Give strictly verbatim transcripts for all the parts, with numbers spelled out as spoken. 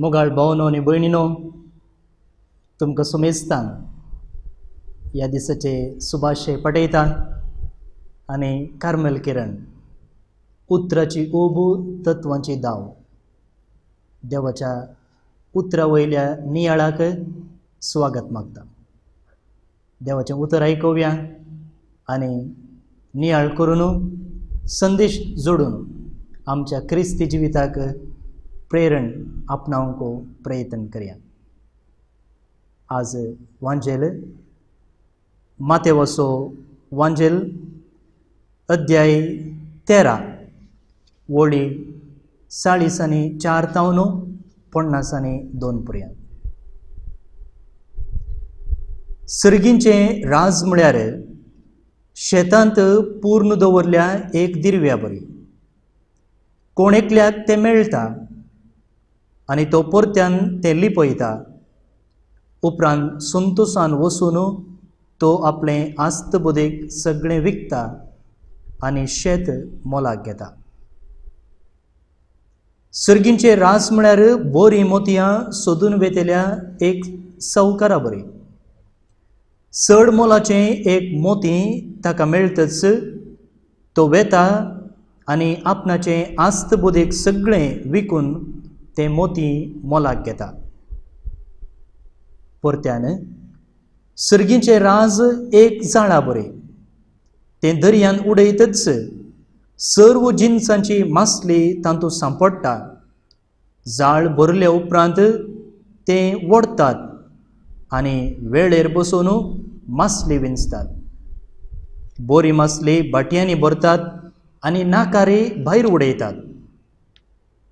मोगाळ भावनो आनी भयणीनो, तुमकां सुमेस्तान ह्या दिसाचे सुभाशे पटयता आनी कार्मेल किरण उतराची ऊब तत्वांची दाव देवाच्या उतरा वयल्या नियाळाक स्वागत मागता. देवाचें उतर आयकुया आनी नियाळ करून संदेश जोडून आमच्या क्रिस्ती जिविताक प्रेरण आपणावंक प्रयत्न करया. आज वांजेल मातेवसो वांजेल अध्याय तेरा वळी चाळीस आनी चार तावन पन्नास आनी दोन पर्यंत. सर्गींचें राज म्हळ्यार शेतांत पूर्ण दवरल्या एक दिरव्या बरी. कोण एकल्याक तें मेळटा आनी तो परत्यान तें लिपयता. उपरांत संतोसान वचून तो आपलें आस्तबुदीक सगळें विकता आनी शेत मोलाक घेता. सर्गींचे रास म्हळ्यार बोरी मोतयां सोदून वेतल्या एक सावकारा बरी. चड मोलाचें एक मोती ताका मेळटच तो वेता आनी आपणाचें आस्तबुदीक सगळें विकून तें मोती मोलाक घेता. परत्यान सर्गींचें राज एक जाळा बरें. तें दर्यान उडयतच सर्व जिनसांची मासली तातूंत सांपडटा. जाळ भरल्या उपरांत तें ओडटात आनी वेळेर बसून मासली विंचतात. बोरी मासली बाटयांनी भरतात आनी नाकारी भायर उडयतात.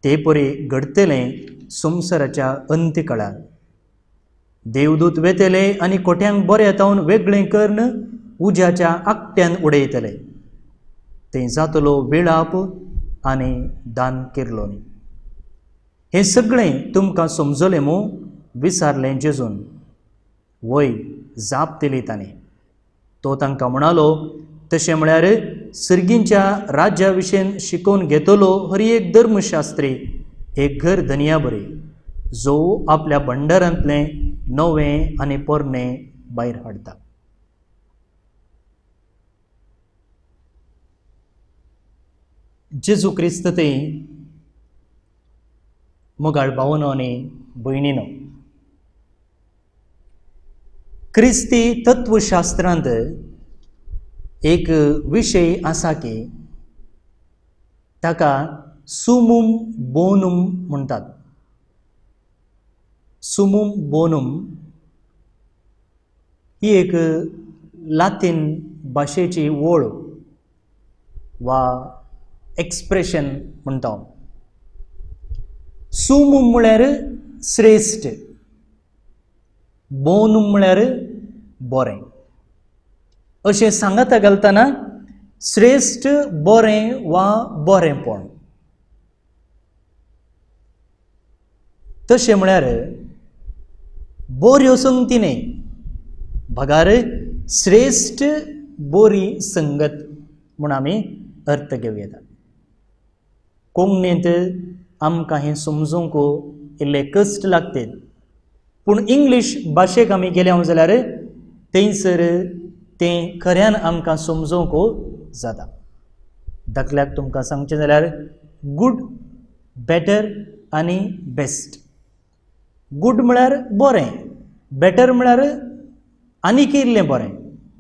ते परी घडटलें संवसाराच्या अंत्यकाळार. देवदूत वेतले आनी कोट्यांक बरें तावन वेगळें करून उज्याच्या आकट्यान उडयतले. थंय जातलो वेळाप आनी दान केरलो. हें सगळें तुमकां समजलें मू? विचारलें जेजून. वय जाप दिली ताणें. तो तांकां म्हणालो, तशें म्हळ्यार सर्गींच्या राज्या विशयन शिकोवन घेतलो हर एक धर्मशास्त्री एक घर धनया बरी, जो आपल्या भंडारांतलें नवें आनी पोरणें भायर हाडटा. जेजू क्रिस्त ते मोगाळ भावनो आनी भयणीनो, क्रिस्ती तत्वशास्त्रांत एक विशय आसा की ताका सुमुम बोनुम म्हणटात. सुमुम बोनुम ही एक लातीन भाशेची वळ वा एक्सप्रेशन म्हणटा. सुमुम म्हळ्यार श्रेश्ठ, बोनुम म्हळ्यार बरें. अशें सांगता घालतना श्रेश्ठ बरें वा बरेंपण. तशें म्हळ्यार बऱ्यो संगती न्हय, बगार श्रेश्ठ बरी संगत म्हूण आमी अर्थ घेवं येता. कोंकणींत आमकां हें समजूंक इल्ले कश्ट लागतात, पूण इंग्लीश भाशेक आमी गेले जाल्यार थंयसर तें खऱ्यान आमकां समजूंक जाता. दाखल्याक तुमकां सांगचें जाल्यार गूड, बेटर आनी बेस्ट. गूड म्हळ्यार बरें, बेटर म्हळ्यार आनीक इल्लें बरें,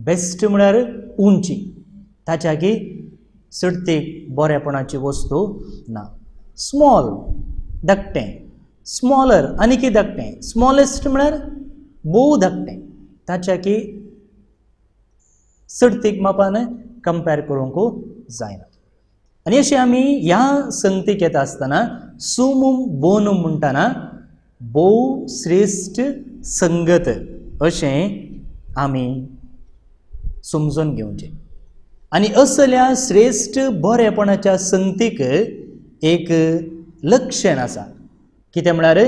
बेस्ट म्हळ्यार उंची, ताच्या की चडतीक बरेपणाची वस्तू ना. स्मॉल धाकटें, स्मॉलर आनीक धाकटें, स्मॉलेस्ट म्हळ्यार भोव धाकटें, ताच्या की चडतीक मापान कंपेर करूंक जायना. आनी अशें आमी ह्या संगतीक येता आसतना सुमुम बोनुम म्हणटना भोव श्रेश्ठ संगत अशें आमी समजून घेवचें. आनी असल्या श्रेश्ठ बरेपणाच्या संगतीक एक लक्षण आसा. कितें म्हळ्यार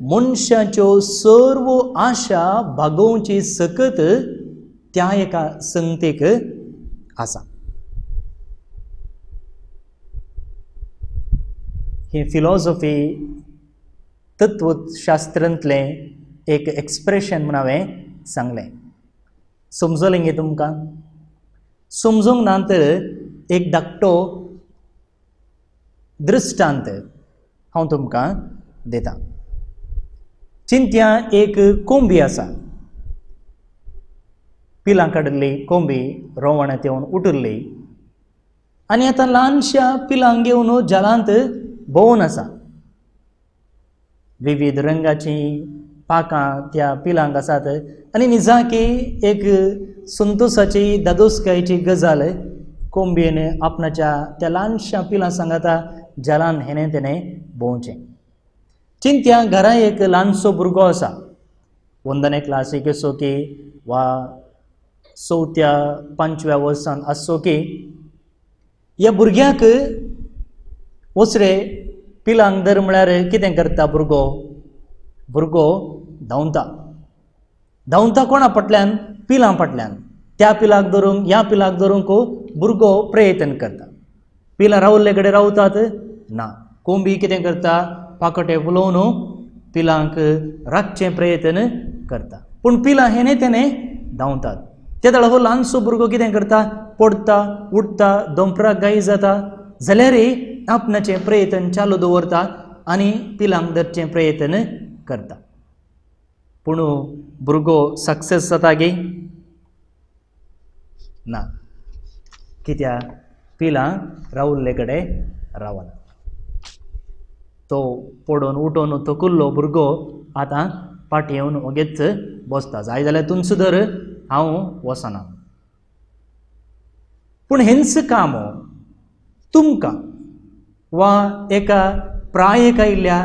मनशाच्यो सर्व आशा भागोवची सकत त्या एका संगतीक आसा. ही फिलॉसॉफी तत्वशास्त्रांतलें एक एक्सप्रेशन म्हूण हांवें सांगलें. समजलें गे तुमकां? समजूंक ना तर एक धाकटो दृश्टांत हांव तुमकां दितां. चिंत्या एक कोंबी आसा, पिलां काडिल्ली कोंबी रोवणांत येवन उठिल्ली आनी आतां ल्हानश्या पिलांक घेवन जलांत भोंवून आसा. विविध रंगाचीं पाकां त्या पिलांक आसात आनी निजाकी एक संतोसाची दादोसकायेची गजाल कोंबयेन आपणाच्या त्या ल्हानश्या पिलां सांगाता जलान हेणें तेणें भोंवचें. चिंत्या घरा एक ल्हानसो भुरगो आसा, वंदने क्लासीक असो की वा चवथ्या पांचव्या वर्सान आसचो की ह्या भुरग्याक वसरे पिलांक धर म्हळ्यार कितें करता भुरगो? भुरगो धांवता. धांवता कोणा फाटल्यान? पिलां फाटल्यान. त्या पिलाक धरूंक ह्या पिलाक धरूंक भुरगो प्रयत्न करता. पिलां रावल्ले कडेन रावतात ना. कोंबी कितें करता? पाकोटे फुलोवन पिलांक राखचें प्रयत्न करता, पूण पिलां हेणे तेणें धांवतात. ते वेळार हो ल्हानसो भुरगो कितें करता? पडटा, उठता, दोंपराक गाय जाता, जाल्यारय आपणाचें प्रयत्न चालू दवरता आनी पिलांक धरचें प्रयत्न करता. पूण भुरगो सक्सेस जाता गे? ना. कित्याक? पिलां रावल्ले कडेन रावना. तो पडोवन उठोवन थकुल्लो भुरगो आतां फाटीं येवन ओगेच बसता. जाय जाल्यार तुमचो धर, हांव वचना. पूण हेंच काम तुमकां वा एका प्रायेक आयिल्ल्या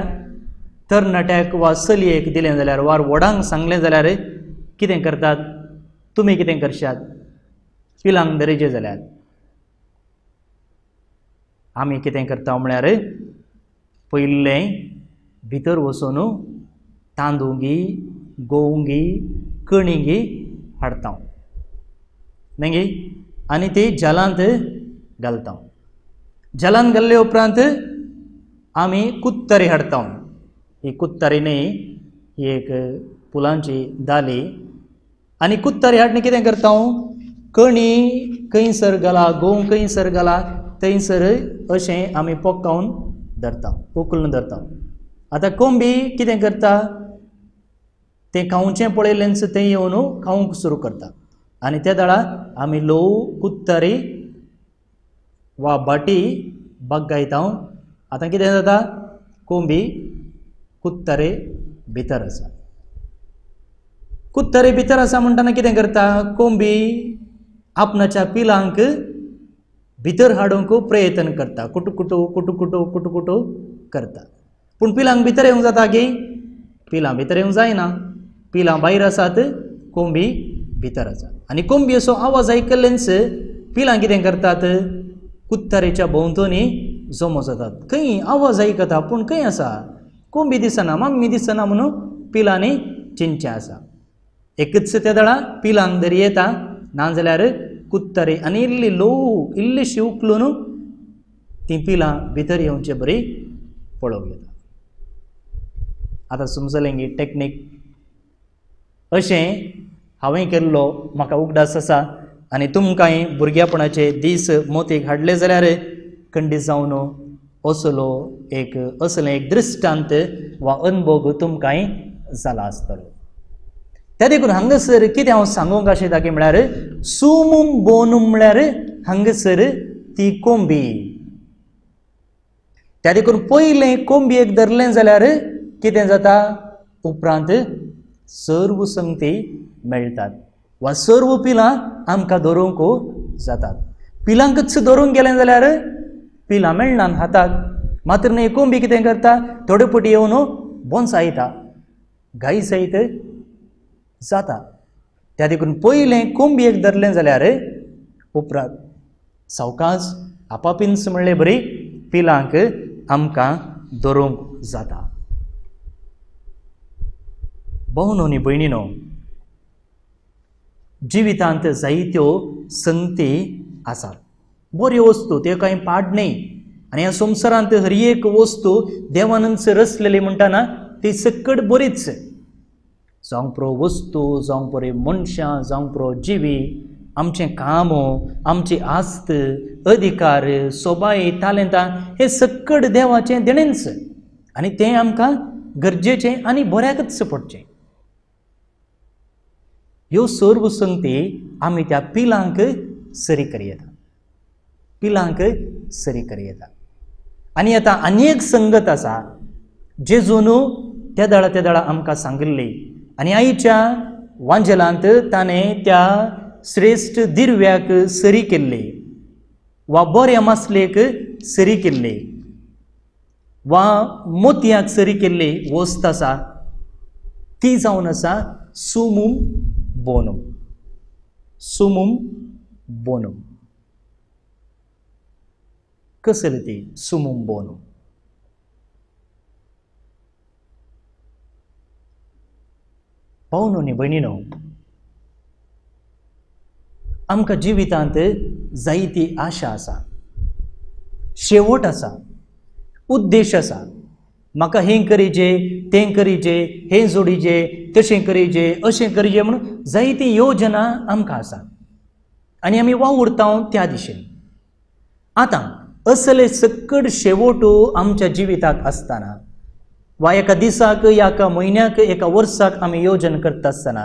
तरणाट्याक वा चलयेक दिलें जाल्यार वा व्हडांक सांगलें जाल्यार कितें करतात? तुमी कितें करशात? पिलांक धरिचें जाल्यार आमी कितें करता म्हळ्यार पयलें भितर वचून तांदूंगी, गोवंगी, कणिंगी हाडटा मागीर आनी ती जलांत घालता. जलांत घाल्ले उपरांत आमी कुत्तरी हाडटा. ही कुत्तरी न्ही, ही एक फुलांची दाली. आनी कुत्तरी हाडून कितें करता? कणी खंयसर घाला, गोंव खंयसर घाला थंयसर अशें आमी पोकावन धरता, उखलून धरता. आतां कोंबी कितें करता? तें खावचें पळयलेंच तें येवन खावंक सुरू करता आनी त्या वेळार आमी ल्हव कुत्तरी वा बाटी बागायता. आतां कितें जाता? कोंबी कुत्तरे भितर आसा. कुत्तरे भितर आसा म्हणटना कितें करता? कोंबी आपणाच्या पिलांक भितर हाडूंक प्रयत्न करता, कुटू कुटू कुटू कुटू कुटू कुटू करता. पूण पिलांक भितर येवंक जाता की? पिलां भितर येवंक जायना. पिलां भायर आसात, कोंबी भितर आसा. आनी कोंबी असो आवाज आयकल्लेंच पिलां कितें करतात? कुत्तरेच्या भोंवतणी जमो जातात. खंय आवाज आयकता पूण खंय आसा? कोंबी दिसना, मम्मी दिसना म्हणून पिलांनी चिंतचें आसा. एकच त्या वेळार पिलांक धरी येता, नाजाल्यार कुत्तरी आनी इल्ली ल्हव इल्लीशी उखलून तीं पिलां भितर येवचे बरी पळोवंक येता. आतां समजलें गी टॅक्नीक? अशें हांवें केल्लो म्हाका उगडास आसा आनी तुमकांय भुरग्यापणाचे दीस मोतीक हाडले जाल्यार खंडीत जावन असलो एक असलें एक दृश्टांत वा अनुभव तुमकांय जाला आसतलो. त्या देखून हांगासर कितें हांव सांगूंक आशेता की म्हळ्यार सुमूम बोनूम म्हळ्यार हांगासर ती कोंबी. त्या देखून पयलें कोंबयेक धरलें जाल्यार कितें जाता? उपरांत सर्व संगती मेळटात वा सर्व पिलां आमकां धरूंक जातात. पिलांकच धरूंक गेलें जाल्यार पिलां मेळनात हाताक. मात्र न्ही कोंबी कितें करता? थोडे पटी येवन बोन्सायता, गाय सयत जाता. त्या देखून पयलें कोंबयेक धरलें जाल्यार उपरांत सावकाश आपापींच म्हणले बरी पिलांक आमकां धरूंक जाता. भावनो न्ही भयणीनो, जिवितांत जायत्यो संगती आसात. बऱ्यो वस्तू, त्यो कांय पाड न्ही. आनी ह्या संवसारांत हर एक वस्तू देवानच रचलेली म्हणटाना ती सक्कड बरीच. जावंक पुरो वस्तू, जावंक पुरो मनशां, जावंक पुरो जिवी, आमचें काम, आमची आस्त, अधिकार, सोबाय, तालेंतां हें सक्कड देवाचें देणेंच आनी तें आमकां गरजेचें आनी बऱ्याकच पडचें. ह्यो सर्व संगती आमी त्या पिलांक सरी करयता, पिलांक सरी करयता. आनी आतां आनी एक संगत आसा जेजून त्या दळा त्या दळा आमकां सांगिल्ली आनी आयच्या वांजेलांत ताणें त्या श्रेश्ठ दिर्व्याक सरी केल्ली वा बऱ्या मासलेक सरी केल्ली वा मोतयाक सरी केल्ली वस्त आसा ती जावन आसा सुमुम बोनम. सुमुम बोनम कसली ती सुमुम बोनम? भावनो न्ही भयणीनो, आमकां जिवितांत जायती आशा आसा, शेवट आसा, उद्देश आसा. म्हाका हें करीजे, तें करीजे, हें जोडीजे, तशें करीजे, अशें करीजे म्हणून जायती योजना आमकां आसा आनी आमी वावुरता त्या दिशेन. आतां असले सक्कड शेवट आमच्या जिविताक आसतना वा एका दिसाक, एका म्हयन्याक, एका वर्साक आमी योजन करता आसतना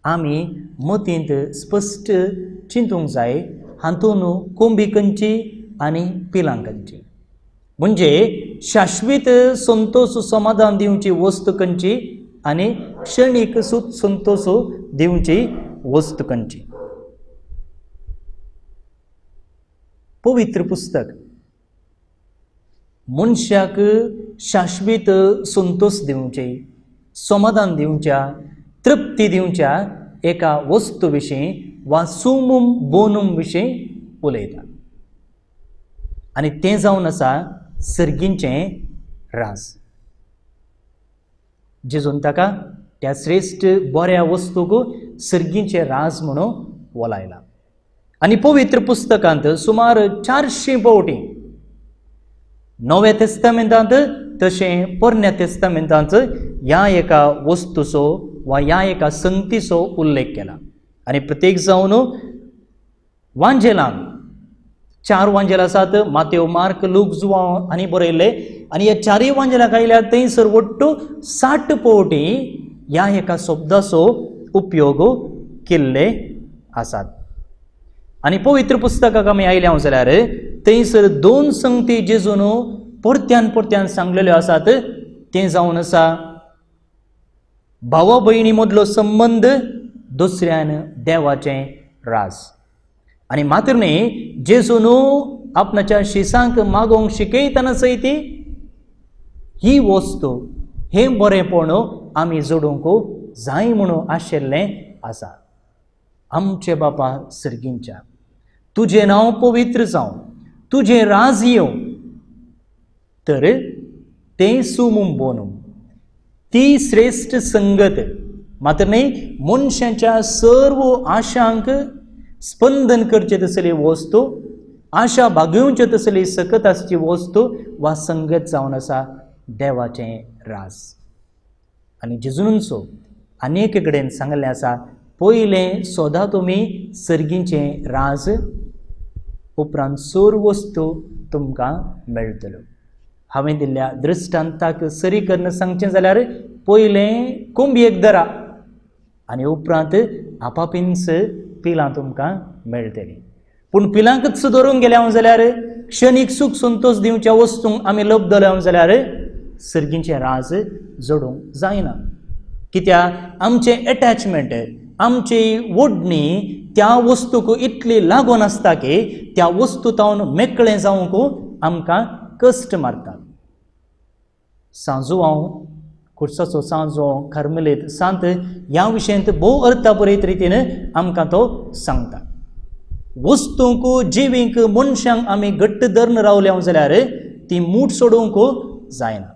आमी मतींत स्पश्ट चिंतूंक जाय हातूंत कोंबी खंयची आनी पिलां खंयची, म्हणजे शाश्वीत संतोष समाधान दिवची वस्तू खंयची आनी क्षणीक सुख संतोष दिवची वस्तू खंयची. पवित्र पुस्तक मनशाक शाश्वीत संतोष दिवचे, समाधान दिवच्या, तृप्ती दिवच्या एका वस्तू विशीं वा सुमुम बोनूम विशीं उलयता आनी तें जावन आसा सर्गींचें राज. जेजून ताका त्या श्रेश्ठ बऱ्या वस्तूक सर्गींचें राज म्हणून वलायला. आनी पवित्र पुस्तकांत सुमार चारशीं पावटी नव्या तेस्तामेंतांत तशें पोरण्या तेस्तामेंतांत ह्या एका वस्तूचो वा ह्या एका संगतीचो उल्लेख केला. आनी प्रत्येक जावन वांजेलान चार वांजेल आसात, मातेव, मार्क, लूक, जुवांव आनी बरयल्ले. आनी ह्या चारूय वांजेलाक आयल्यार थंयसर वट्टू साठ पावटी ह्या एका शब्दाचो उपयोग केल्ले आसात. आनी पवित्र पुस्तकाक आमी आयल्या जाल्यार थंयसर दोन संगती जेजून परत्यान परत्यान सांगलेल्यो आसात, तें जावन आसा भावा भयणी मदलो संबंद, दुसऱ्यान देवाचें राज. आनी मात्र न्ही, जेजून आपणाच्या शिसांक मागोवंक शिकयतना सयत ही वस्तू, हें बरेंपण आमी जोडूंक जाय म्हणून आशिल्लें आसा. आमचे बापा सर्गींच्या, तुजें नांव पवित्र जावं, तुजें राज येवं, तर तें सुमुम बोनूम, ती श्रेश्ठ संगत मात्र न्ही मनशाच्या सर्व आशांक स्पंदन करचे तसली वस्तू, आशा भागोवचे तसली सकत आसची वस्तू वा संगत जावन आसा देवाचें राज. आनी जेजूनचो आनी कडेन सांगलें आसा, पयलें सोदा तुमी सर्गींचें राज, उपरांत सर्व वस्तू तुमकां मेळटल्यो. हांवें दिल्ल्या दृश्टांताक सरी करून सांगचें जाल्यार पयलें कोंबयेक धरा आनी उपरांत आपापींच पिलां तुमकां मेळटलीं. पूण पिलांकच धरूंक गेल्या जाल्यार क्षणीक सूख संतोष दिवच्या वस्तूंक आमी लब्धल्या जाल्यार सर्गींचें राज जोडूंक जायना. कित्याक आमचें एटॅचमेंट, आमची ओडणी त्या वस्तूक इतली लागून आसता की त्या वस्तू तावन मेकळें जावंक आमकां कश्ट मारतात. सांजुआंव, खुर्साचो सांजो, कार्मेलीत सांत ह्या विशयांत भोव अर्थापुरीत रितीन आमकां तो सांगता. वस्तूंक, जिवींक, मनशांक आमी घट्ट धरून रावल्या जाल्यार ती मूठ सोडूंक जायना.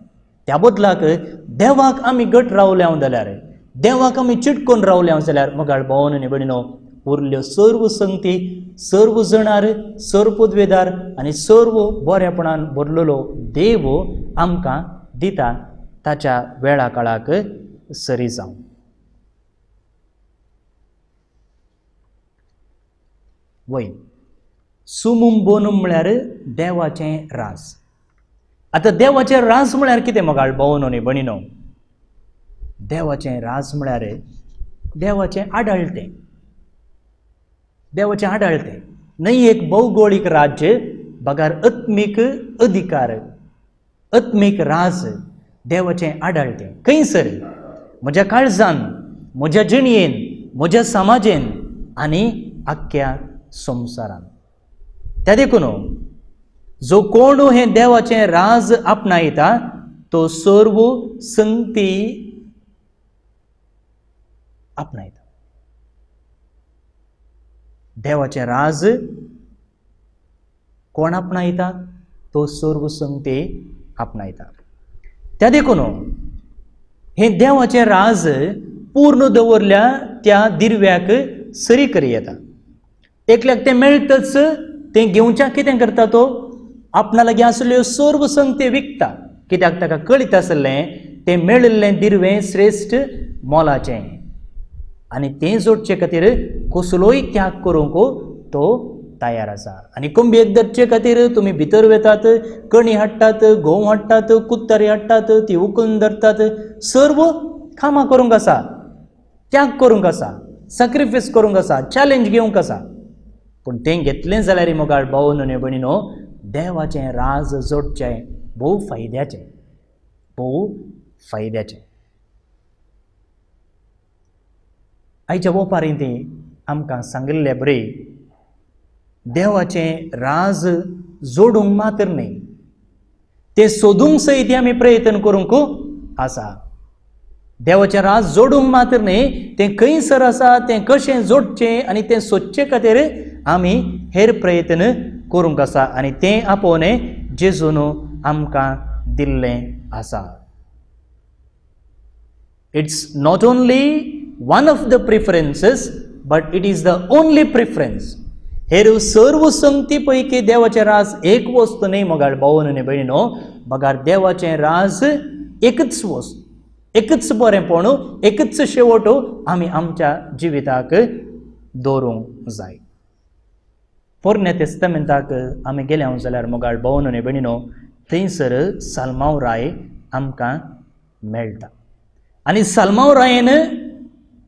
त्या बदलाक देवाक आमी घट रावल्या जाल्यार, देवाक आमी चिटकून रावल्या जाल्यार मगाळ भोवन आनी भयणीनो, उरल्यो सर्व संगती, सर्व जणार, सर्व पदवेदार आनी सर्व बरेपणान भरलेलो देव आमकां दिता. ताच्या वेळा काळाक सरी जावं. वय सुमुम बोनूम म्हळ्यार देवाचें राज. आतां देवाचें राज म्हळ्यार कितें मोगाळ भोवनो न्ही भणिनो? देवाचें राज म्हळ्यार देवाचें आडळतें, देवाचें आडळतें न्हय एक भौगोळीक राज्य बगर आत्मीक अधिकार, आत्मीक राज, देवाचें आडळतें खंयसर म्हज्या काळजान, म्हज्या जिणयेन, म्हज्या समाजेन आनी आख्ख्या संवसारान. त्या देखून जो कोण हें देवाचें राज आपणायता तो सर्व संगती आपणायता. देवाचें राज कोण आपणायता तो सर्व संगती आपणायता. त्या देखून हें देवाचें राज पूर्ण दवरल्या त्या दिरव्याक सरी करी येता. एकल्याक तें मेळटच तें घेवच्याक कितें करता तो आपणा लागीं आसल्यो सर्व संगती विकता. कित्याक ताका कळीत आसलें तें मेळिल्लें दिरवें श्रेश्ठ मोलाचें आनी तें जोडचे खातीर कसलोय त्याग करूंक तो तयार आसा. आनी कोंबयेक धरचे खातीर तुमी भितर वेतात, कणी हाडटात, गंव हाडटात, कुत्तरी हाडटात, ती उकून धरतात, सर्व कामां करूंक आसा, त्याग करूंक आसा, सॅक्रिफायस करूंक आसा, चॅलेंज घेवंक आसा. पूण तें घेतलें जाल्यार मोगाळ भाव न्हय भयणीनो, देवाचें राज जोडचें भोव फायद्याचें, भोव फायद्याचें. आयच्या ओपारींत आमकां सांगिल्ले बरी देवाचें राज जोडूंक मात्र न्हय, तें सोदूंक सयत आमी प्रयत्न करूंक आसा. देवाचें राज जोडूंक मात्र न्हय, तें खंयसर आसा, तें कशें जोडचें आनी तें सोदचे खातीर आमी हेर प्रयत्न करूंक आसा आनी तें आपोवणें जेजून आमकां दिल्लें आसा. It's not only one of the preferences but it is the only preference. हेर सर्व संगती पैकी देवाचें राज एक वस्तू न्हय मोगाळ भाव न्हय भयणीनो, बगार देवाचें राज एकच वस्तू, एकच बरेंपण, एकच शेवट आमी आमच्या जिविताक दवरूंक जाय. पोरण्या तेस्तामेंताक आमी गेल्या जाल्यार मोगाळ भाव न्हय भयणीनो, थंयसर साल्मांव राय आमकां मेळटा. आनी साल्मांव रायन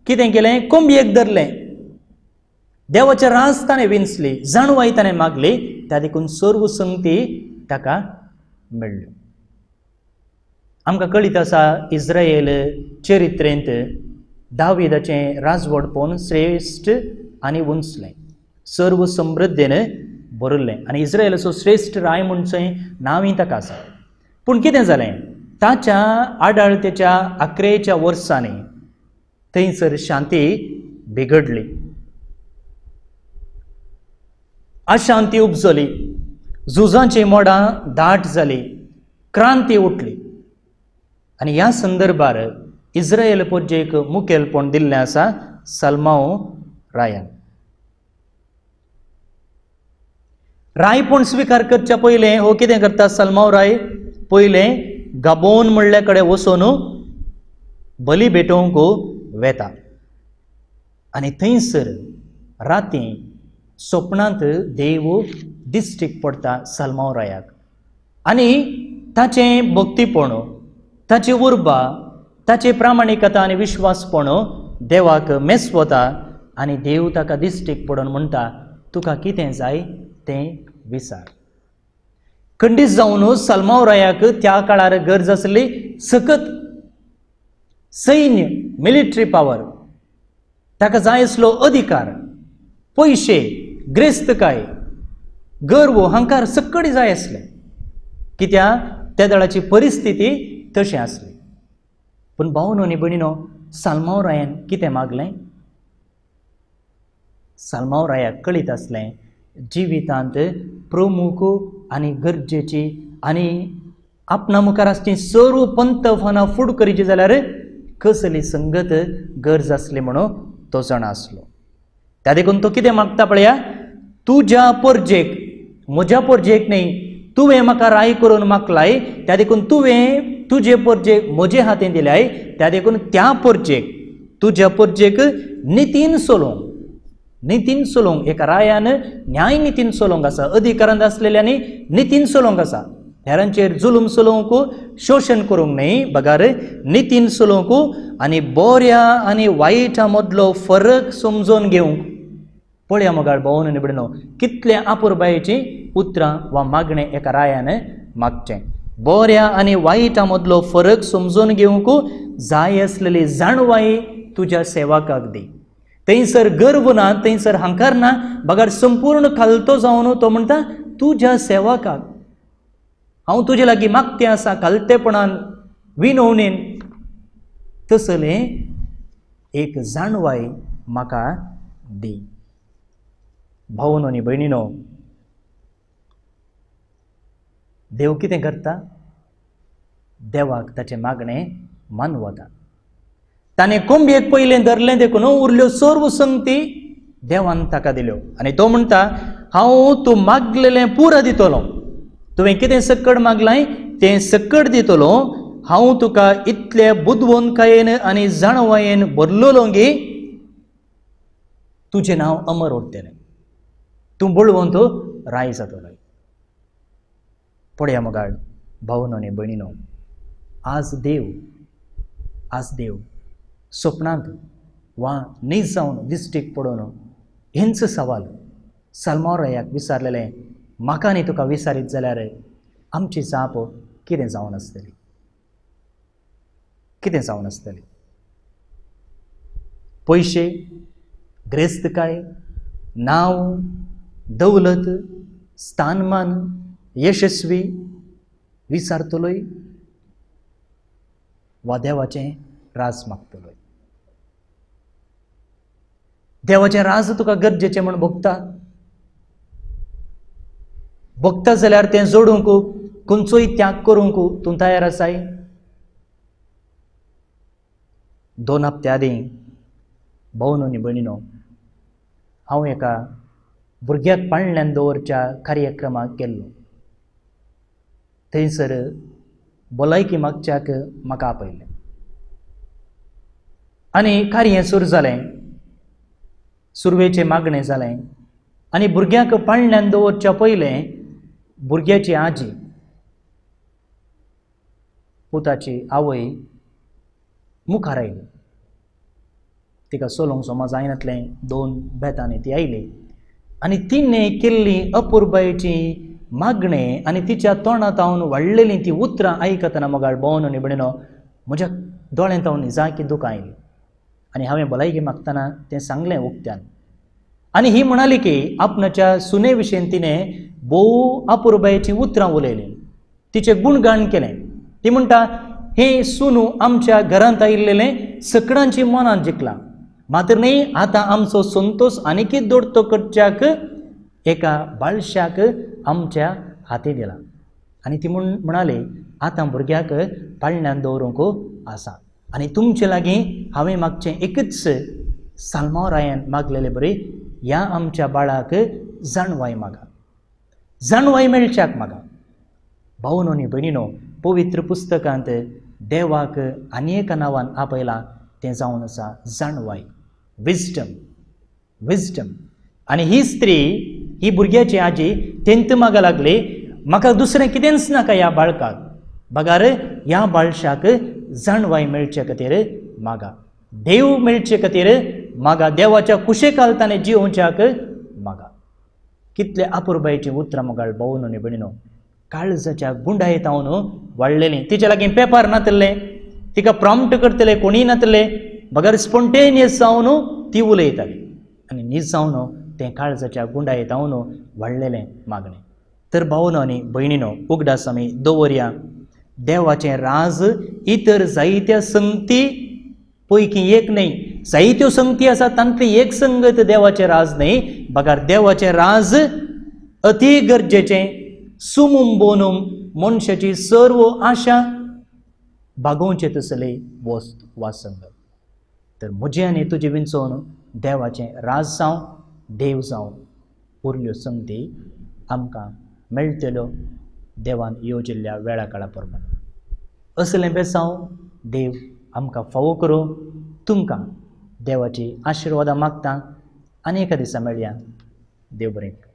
कितें केलें? कोंबयेक धरलें, देवाचें राज ताणें विंचली, जाणवाय ताणें मागली, त्या देखून सर्व संगती ताका मेळ्ळ्यो. आमकां कळीत आसा इस्रायल चरित्रेंत दाविदाचें राजवटपण श्रेश्ठ आनी उंचलें, सर्व समृद्धीन भरिल्लें आनी इस्रायलाचो श्रेश्ठ राय म्हणचें नांवूय ताका आसा. पूण कितें जालें? ताच्या आडाळतेच्या अकरेच्या वर्सांनी थंयसर शांती बिगडली, अशांती उपजली, झुजांची मोडां दाट जाली, क्रांती उठली. आनी ह्या संदर्भार इस्रायल पोरजेक मुखेलपण दिल्लें आसा साल्मांव रायान. रायपण स्विकार करच्या पयलें हो कितें करता साल्मांव राय? पयलें गाबोन म्हणल्या कडेन वचून बली भेटोवंक वेता आनी थंयसर राती स्वप्नांत देव दिश्टीक पडटा साल्मांव रायाक आनी ताचें भक्तीपण, ताची उर्बा, ताची प्रामाणिकता आनी विश्वासपण देवाक मेसवता आनी देव ताका दिश्टीक पडून म्हणटा, तुका कितें जाय तें विचार. खंडीत जावन साल्मांव रायाक त्या काळार गरज आसली सकत सैन्य, मिलिटरी पावर, ताका जाय आसलो अधिकार, पयशे, ग्रेस्तकाय, गर्व, अहंकार सकडी जाय आसले. कित्याक त्या दळाची परिस्थिती तशी आसली. पूण भावनो आनी भयणीनो, साल्मांव रायान कितें मागलें? साल्मांव रायाक कळीत आसलें जिवितांत प्रमुख आनी गरजेची आनी आपणा मुखार आसची सर्व पंतफानां फूड करीची जाल्यार कसली संगत गरज आसली म्हणून तो जाणा आसलो. त्या देखून तो कितें मागता पळया, तुज्या पोरजेक, म्हज्या पोरजेक न्हय, तुवें म्हाका राय करून मागलाय, त्या देखून तुवें तुजे परजेक म्हजे हातीन दिल्याय, त्या देखून त्या परजेक तुज्या परजेक नितीन चलोवंक, नितीन चलोवंक एका रायान न्याय नितीन चलोवंक आसा, अधिकारांत आसलेल्यांनी नितीन चलोवंक आसा, हेरांचेर जुलूम चलोवंक शोशण करूंक न्हय, बगार नितीन चलोवंक आनी बऱ्या आनी वायटा मदलो फरक समजून घेवंक. पळया मोगाळ भोवन आनी भयणीनो, कितले आपुरबायेचीं उतरां वा मागणें एका रायान मागचें. बऱ्या आनी वायटा मदलो फरक समजून घेवंक जाय आसलेली जाणवाय तुज्या सेवकाक दी. थंयसर गर्व ना, थंयसर हांकार ना, बगर संपूर्ण खालतो जावन तो म्हणटा तुज्या सेवकाक हांव तुजे लागीं मागतें आसा खालतेपणान विनवणेन, तसलें एक जाणवाय म्हाका दी. भावनो आनी भयणीनो, देव कितें करता? देवाक ताचें मागणें मानवता. ताणें कोंबयेक पयलें धरलें देखून उरल्यो सर्व संगती देवान ताका दिल्यो. आनी तो म्हणटा हांव तूं मागलेलें पुरा दितलो, तुवें कितें सक्कड मागलाय तें सक्कड दितलो, हांव तुका इतले बुदवंतकायेन आनी जाणवायेन भरलेलो गी तुजें नांव अमर उरतलें, तूं बळवंत राय जातलो. पळया मोगाळ भावनो आनी भयणीनो, आज देव आज देव सपनांत वा न्हीद जावन दिश्टीक पडून हेंच सवाल साल्मांव रायाक विचारलेलें, म्हाका आनी तुका विचारीत जाल्यार आमची जाप कितें जावन आसतली, कितें जावन आसतली? पयशे, ग्रेस्तकाय, नांव, दौलत, स्थानमान, यशस्वी विचारतलोय वा देवाचें राज मागतलोय? देवाचें राज तुका गरजेचें म्हूण भोगता, भोगता जाल्यार तें जोडूंक खंयचोय त्याग करूंक तूं तयार आसाय? दोन हप्त्या आदीं भावनो आनी भयणीनो, हांव एका भुरग्याक पाळण्यान दवरच्या कार्यक्रमाक गेल्लो. थंयसर भलायकी मागच्याक म्हाका आपयलें आनी कार्य सुरू जालें. सुरवेचें मागणें जालें आनी भुरग्याक पाळण्यान दवरच्या पयलें भुरग्याची आजी, पुताची आवय मुखार आयली. तिका चलोवंक समज जायनातलें, दोन बेतांनी ती आयली आनी तिणें केल्ली अपुरबायेची मागणें आनी तिच्या तोंडांत हांव वाडलेलीं तीं उतरां आयकतना मोगाळ भोवन आनी भयणीनो, म्हज्या दोळ्यांत हांव निजाकी दुकां आयलीं. आनी हांवें भलायकी मागतना तें सांगलें उक्त्यान. आनी ही म्हणाली की आपणाच्या सुने विशीं तिणें भोव अपुरबायेचीं उतरां उलयलीं, तिचें गुणगान केलें. ती म्हणटा, हें सुनू आमच्या घरांत आयिल्लें सकडांची मनां जिखलां, मात्र न्ही आतां आमचो संतोश आनीकय दोडतो करच्याक एका बाळशाक आमच्या हाती दिला. आनी ती म्हण म्हणाली आतां भुरग्याक पाळण्यान दवरूंक आसा आनी तुमचे लागीं हांवें मागचें एकूच साल्मांव रायान मागलेले बरी ह्या आमच्या बाळाक जाणवाय मागा, जाणवाय मेळच्याक मागा. भावनो आनी भयणीनो, पवित्र पुस्तकांत देवाक आनी एका नांवान आपयलां तें जावन आसा जाणवाय, विजडम, विजडम. आनी ही स्त्री, ही भुरग्याची आजी तेंत मागा लागली, म्हाका दुसरें कितेंच नाका ह्या बाळकाक, बगार ह्या बाळशाक जाणवाय मेळचे खातीर मागा, देव मेळचे खातीर मागा, देवाच्या कुशेकाल ताणें जियोवच्याक मागा. कितले अपुरबायेचीं उतरां मोगाळ भोवन आनी भयणीनो, काळजाच्या गुंडायेत हांव वाडलेलीं. तिच्या लागीं पेपर नातले, तिका प्रॉम्प्ट करतले कोणीय नातले, बगर स्पोन्टेनियस जावन ती उलयताली आनी नीज जावन तें काळजाच्या गुंडायेत हांव वाडलेलें मागणें. तर भावनो आनी भयणीनो, उगडास आमी दवरया, देवाचें राज इतर जायत्या संगती पैकी एक न्हय, जायत्यो संगती आसा तांतली एक संगत देवाचें राज न्हय, बगर देवाचें राज अती गरजेचें, सुमुम बोनूम मनशाची सर्व आशा भागोवचे तसले वस्त वा संगत. तर म्हजें आनी तुजें विंचोवन देवाचें राज जावं, देव जावं, उरल्यो संगती आमकां मेळटल्यो. देवान येवजिल्ल्या वेळा काळा प्रमाण. असलें बेसांव देव आमकां फावो करूं. तुमकां देवाची आशिर्वादां मागता आनी एका दिसा मेळया. देव बरें.